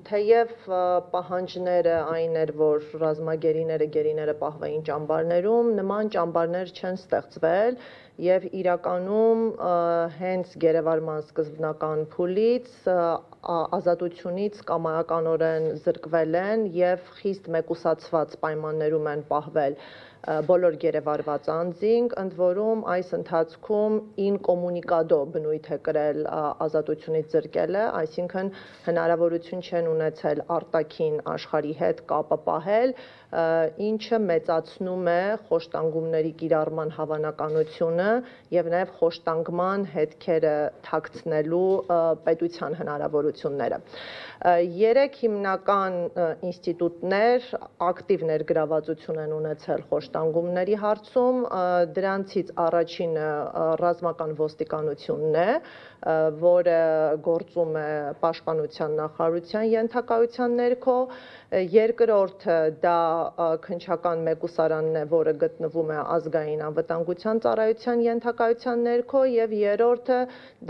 թեև պահանջները այն էր, որ ռազմագերիները, գերիները պահվեին ճամբարներում, նման ճամբարներ չեն ստեղծվել եւ իրականում հենց գերեվարման սկզբնական փուլից ազատությունից կամայականորեն զրկվել են եւ խիստ մեկուսացված պայմաններում են պահվել բոլոր գերեվարված անձինք, ընդ որում այս ընթացքում ինկոմունիկադո բնույթ է կրել ազատությունից զրկելը, այսինքն հնարավորություն չեն ունեցել արտաքին աշխարհի հետ կապը պահել, ինչը մեծացնում է խոշտանգումների կիրառման հավանականությունը եւ նաեւ խոշտանգման հետքերը թաքցնելու պետության հնարավորությունները։ Երեք հիմնական ինստիտուտներ ակտիվ ներգրավվածություն են ունեցել խոշտանգումների հարցում, դրանցից առաջինը ռազմական ոստիկանությունն է, որը գործում է պաշտպանության նախարարության ենթակայության ներքո, երկրորդը դա քննչական մեկուսարանն է, որը գտնվում է ազգային անվտանգության ծառայության ենթակայության ներքո եւ երրորդը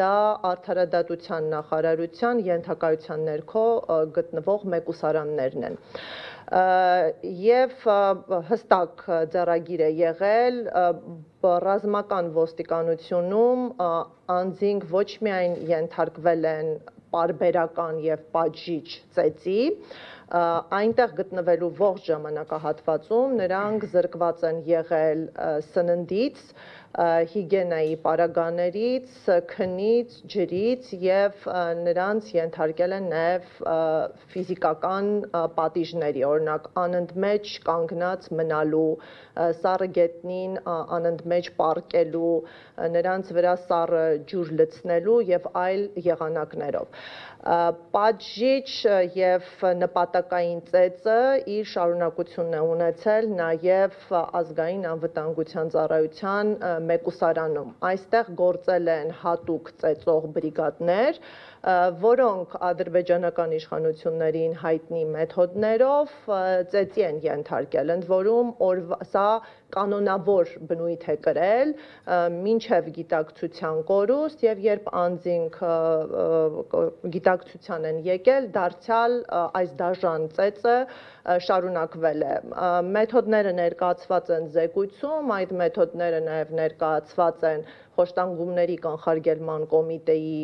դա արդարադատության նախարարության ենթակայության ներքո գտնվող մեկուսարաններն են։ Եվ հստակ ձեռագիր է եղել ռազմական ոստիկանությունում անձինք ոչ միայն ենթարկվել են պարբերական եւ պատժիչ ծեծի, այնտեղ գտնվելու ողջ ժամանակահատվածում նրանք զրկված են եղել սննդից, հիգիենայի պարագաներից, քնից, ջրից եւ նրանց ենթարկել են նաեւ ֆիզիկական պատիժների, օրինակ անընդմեջ կանգնած մնալու, սառը գետնին անընդմեջ պառկելու, նրանց վրա սառը ջուր լցնելու եւ այլ եղանակներով։ Պատժիչ եւ նպատակային ծեծը իր շարունակությունն է ունեցել նաեւ ազգային անվտանգության ծառայության մեկուսարանում։ Այստեղ գործել են հատուկ ծեծող բրիգադներ, որոնք ադրբեջանական իշխանություններին հայտնի մեթոդներով ծեծի են ենթարկել, ընդ որում սա կանոնավոր բնույթ է կրել մինչև գիտակցության կորուստ եւ երբ անձինք գիտակցության են եկել, դարձյալ այս դաժան ծեծը շարունակվել է։ Մեթոդները ներկայացված են զեկույցում, այդ մեթոդները նաեւ ներկայացված են խոշտանգումների կանխարգելման կոմիտեի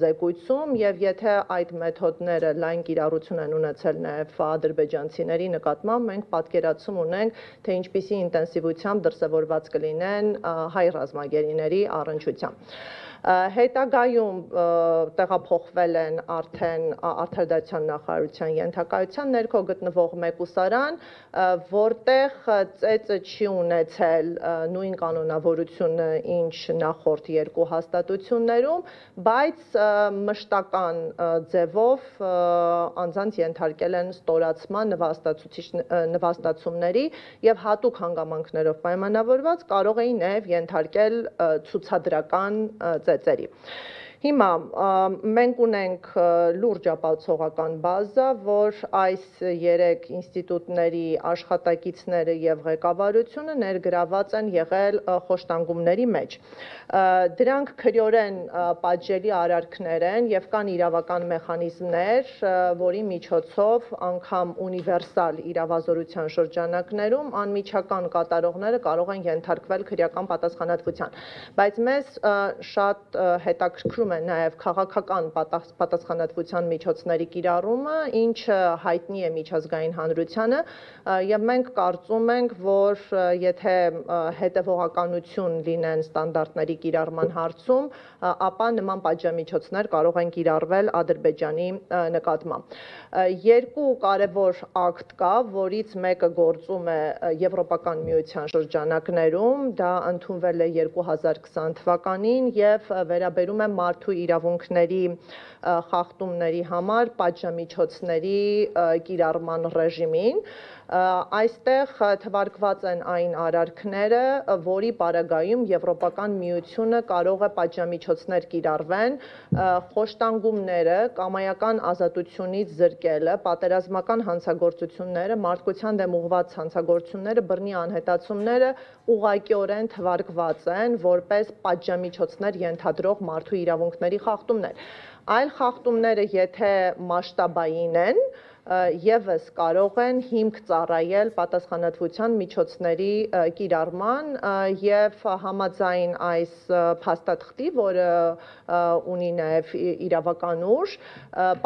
զեկույցում եւ եթե այդ մեթոդները լայն կիրառություն են ունեցել նաեւ ադրբեջանցիների նկատմամբ, մենք պատկերացում ունենք, թե ինչպիսի ինտենսիվությամբ դրսևորված կլինեն հայ ռազմագերիների առնչությամբ։ Հետագայում տեղափոխվել են արդեն արդարադատության նախարարության ենթակայության ներքո գտնվող մեկուսարան, որտեղ ծեծը չի ունեցել նույն կանոնավորությունը, ինչ նախորդ երկու հաստատություններում, բայց մշտական ձևով անձանց ենթարկել են ստորացման նվաստացումների եւ հատուկ հանգամանքներով պայմանավորված կարող էին նաեւ ենթարկել ցուցադրական ծեծերի։ Հիմա մենք ունենք լուրջ ապացուցողական բազա, որ այս երեք ինստիտուտների աշխատակիցները եւ ղեկավարությունը ներգրաված են եղել խոշտանգումների մեջ։ Դրանք քրեորեն պատժելի արարքներ են եւ կան իրավական մեխանիզմներ, որի միջոցով անգամ ունիվերսալ իրավազորության շրջանակներում անմիջական կատարողները կարող են ենթարկվել քրեական պատասխանատվության։ Բայց մեզ շատ հետաքրքրում է նաև քաղաքական պատասխանատվության միջոցների կիրառումը, ինչը հայտնի է միջազգային հանրությանը, եւ մենք կարծում ենք, որ եթե հետևողականություն լինեն ստանդարտների կիրառման հարցում, ապա նման պատժամիջոցներ կարող են կիրառվել Ադրբեջանի նկատմամբ։ Երկու կարևոր ակտ կա, որից մեկը գործում է Եվրոպական միության շրջանակներում, դա ընդունվել է 2020 թվականին եւ վերաբերում է մարդու իրավունքների խախտումների համար պատժամիջոցների կիրառման ռեժիմին։ Այստեղ թվարկված են այն արարքները, որի պարագայում Եվրոպական միությունը կարող է պատժամիջոցներ կիրառվեն, խոշտանգումները, կամայական ազատությունից զրկելը, պատերազմական հանցագործությունները, մարդկության դեմ ուղղված հանցագործությունները, բռնի անհետացումները ուղղակիորեն թվարկված են որպես պատժամիջոցներ ենթադրող մարդու իրավունքների խախտումներ։ Այլ խախտումները, եթե մասշտաբային են, եւս կարող են հիմք ծառայել պատասխանատվության միջոցների կիրառման եւ համաձայն այս փաստաթղթի, որը ունի նաեւ իրավական ուժ,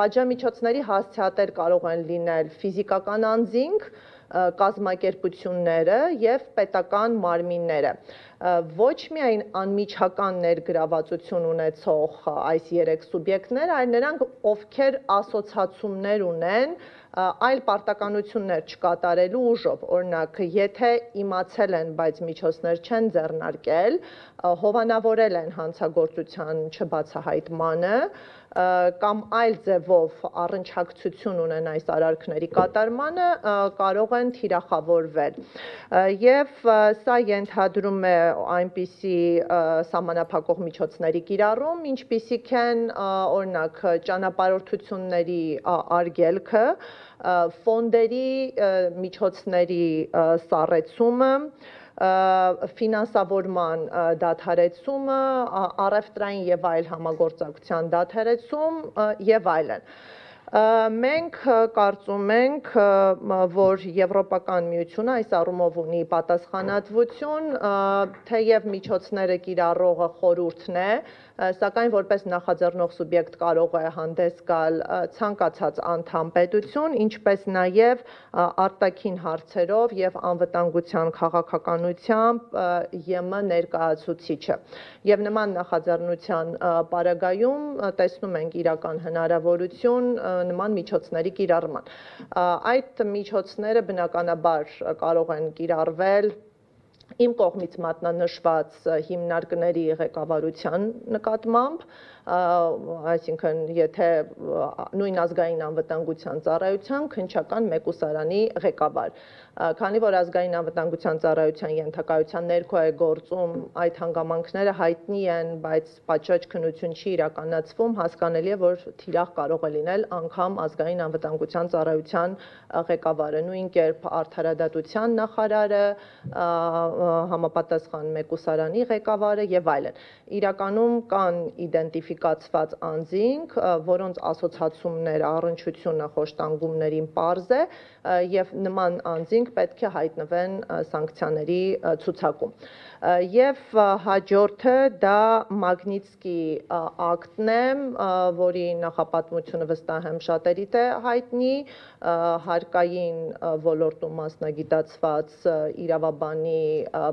պատժամիջոցների հասցեատեր կարող են լինել ֆիզիկական անձինք, կազմակերպությունները եւ պետական մարմինները։ Ոչ միայն անմիջական ներգրավվածություն ունեցող այս 3 սուբյեկտներ, այլ նրանք, ովքեր ասոցացումներ ունեն այլ պարտականություններ չկատարելու ուժով, օրինակ, եթե իմացել են, բայց միջոցներ չեն ձեռնարկել, հովանավորել են հանցագործության չբացահայտմանը, կամ այլ ձևով առնչակցություն ունեն այս արարքների կատարմանը, կարող են թիրախավորվել։ Եվ սա ենթադրում է այնպիսի սահմանափակող միջոցների կիրառում, ինչպիսիք են, օրինակ, ճանապարհորդությունների արգելքը, ֆոնդերի միջոցների սառեցումը, ֆինանսավորման դադարեցումը, առևտրային եւ այլ համագործակցության դադարեցում եւ այլն։ Մենք կարծում ենք, որ Եվրոպական միությունը այս առումով ունի պատասխանատվություն, թեև միջոցները կիրառողը խորհուրդն է, սակայն որպես նախաձեռնող սուբյեկտ կարող է հանդես գալ ցանկացած անդամ պետություն, ինչպես նաև արտաքին հարցերով եւ անվտանգության քաղաքականությամբ ԵՄ ներկայացուցիչը։ Եվ նման նախաձեռնության պարագայում տեսնում ենք իրական հնարավորություն նման միջոցների կիրառման։ Այդ միջոցները բնականաբար կարող են կիրառվել իմ կողմից մատնանշված հիմնարկների ղեկավարության նկատմամբ, այսինքն եթե նույն ազգային անվտանգության ծառայության քննչական մեկուսարանի ղեկավար, քանի որ ազգային անվտանգության ծառայության ենթակայության ներքո է գործում, այդ հանգամանքները հայտնի են, բայց պատշաճ քննություն չի իրականացվում, հասկանալի է, որ թիրախ կարող է լինել անգամ ազգային անվտանգության ծառայության ղեկավարը, նույն կերպ արդարադատության նախարարը, համապատասխան մեկուսարանի ղեկավարը եւ այլն։ Իրականում կան իդենտիֆիկացված անձինք, որոնց ասոցացումները, առնչությունը խոշտանգումներին պարզ է եւ նման անձինք պետք է հայտնվեն սանկցիաների ցուցակում։ Եվ հաջորդը դա Մագնիտսկի ակտն է, որի նախապատմությունը վստահ եմ շատերիդ է հայտնի, հարկային ոլորտում մասնագիտացված իրավաբանի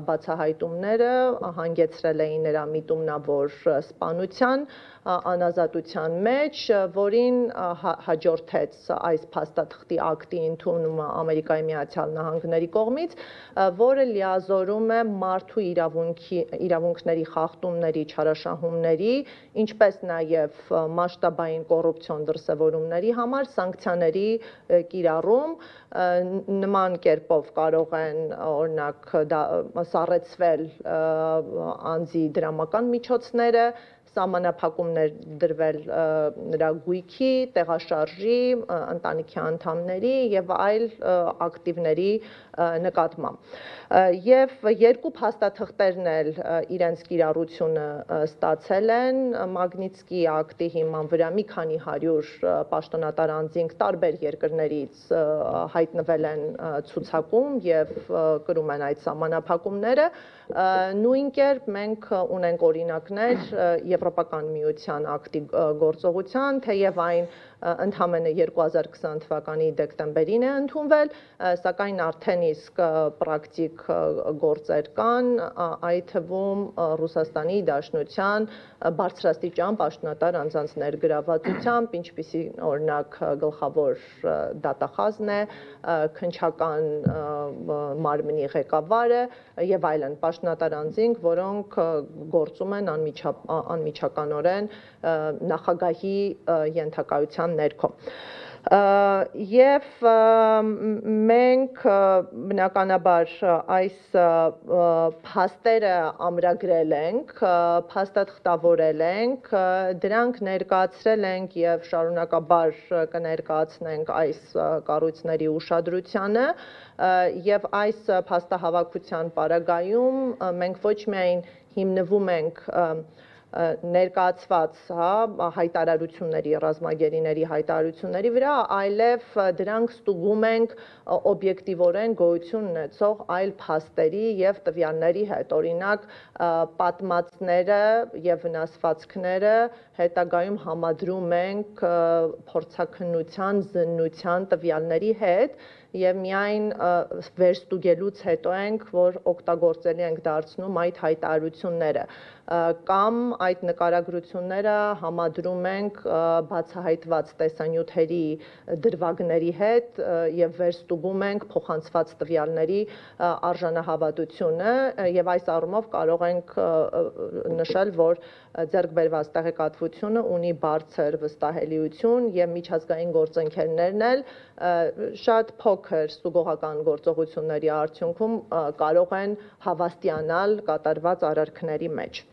բացահայտումները հանգեցրել էին նրա միտումնավոր սպանության, անազատության մեջ, որին հաջորդեց այս փաստաթղթի ակտի ընդունումը Ամերիկայի Միացյալ Նահանգների կողմից, որը լիազորում է մարդու իրավունքների խախտումների, չարաշահումների, ինչպես նաև մասշտաբային կոռուպցիոն դրսևորումների համար սանկցիաների կիրառում, նման կերպով կարող են օրինակ սառեցվել անձի դրամական միջոցները, սահմանափակումներ դրվել նրա գույքի, տեղաշարժի, ընտանիքի անդամների եւ այլ ակտիվների նկատմամբ։ Եվ երկու փաստաթղթերն էլ իրենց կիրառությունը ստացել են Մագնիտսկի ակտի հիման վրա մի քանի 100 պաշտոնատար անձինք տարբեր երկրներից հայտնվել են ցուցակում եւ կրում են այդ սահմանափակումները։ Նույն կերպ մենք ունենք օրինակներ Եվրոպական միության ակտի գործողության, թեև այն ընդամենը 2020 թվականի դեկտեմբերին է ընդունվել, սակայն արդեն իսկ պրակտիկ գործեր կան, այդ թվում Ռուսաստանի Դաշնության բարձրաստիճան պաշտոնատար անձանց ներգրավվածությամբ, ինչպիսի օրինակ գլխավոր դատախազն է, քննչական մարմնի ղեկավարը եւ այլն պաշտոնատար անձինք, որոնք գործում են անմիջականորեն նախագահի ենթակայության ներքո։ Եվ մենք բնականաբար այս փաստերը ամրագրել ենք, փաստաթղթավորել ենք, դրանք ներկայացրել ենք եւ շարունակաբար կներկայացնենք այս կառույցների ուշադրությանը եւ այս փաստահավաքության պարագայում մենք ոչ միայն հիմնվում ենք ներկայացված, հա, հայտարարությունների, ռազմագերիների հայտարարությունների վրա, այլև դրանք ստուգում ենք օբյեկտիվորեն գոյություն ունեցող այլ փաստերի եւ տվյալների հետ, օրինակ պատմածները եւ վնասվածքները հետագայում համադրում ենք փորձաքննության, զննության տվյալների հետ եւ միայն վերստուգելուց հետո ենք, որ օգտագործելի ենք դարձնում այդ հայտարարությունները կամ այդ նկարագրությունները համադրում ենք բացահայտված տեսանյութերի դրվագների հետ եւ վերստուգում ենք փոխանցված տվյալների արժանահավատությունը եւ այս առումով կարող ենք նշել, որ ձեռք բերված տեղեկատվությունը ունի բարձր վստահելիություն եւ միջազգային գործընկերներն էլ շատ փոքր ստուգողական գործողությունների արդյունքում կարող են հավաստիանալ կատարված արարքների մեջ։